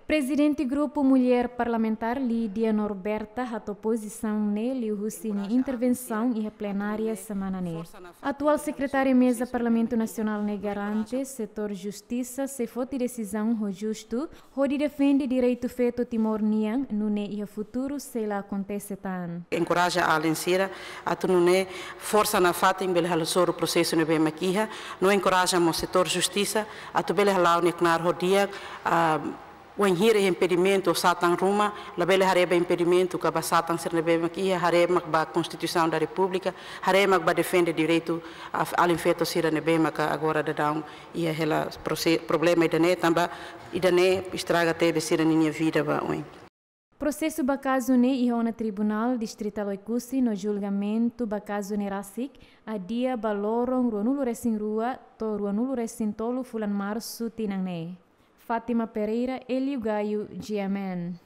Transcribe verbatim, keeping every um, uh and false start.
Prezidente Grupu Mulher Parlamentár, Lídia Norberta, hato'o pozisaun ne'e liuhusi nia intervensaun iha plenária semana ne'e. Atuál Sekretária Meza Parlamentu Nasionál ne'e garante setór justisa sei foti desizaun ho justu, hodi defende direitu feto Timor nian, nune'e iha futuru sei la akontese tan. Enkoraja alin sira atu nune'e forsa nafatin bele halo soru prosesu ne'ebé mak iha, no enkoraja mós setór justisa atu bele hala'o nia knaar ho di'ak, ah, wainhira iha impedimentu ou satan ruma, labele haree ba impedimentu ka ba satan sira ne'ebé mak iha, haree mak ba Konstituisaun da Repúblika, haree mak ba defende direitu, ah, alin feto sira ne'ebé maka agora daudaun iha hela prose-, problema ida-ne'e, tanba ida-ne'e estraga tebes sira ninia vida ba oin. Prosesu ba kazu ne'e iha ona Tribunál Distritál Oekusi no julgamentu ba kazu ne'e rasik adia ba loron ruanulu-resin-rua to'o ruanulu-resin-tolu fulan Marsu tinan ne'e. Fátima Pereira, Hélio Gaio, G M N.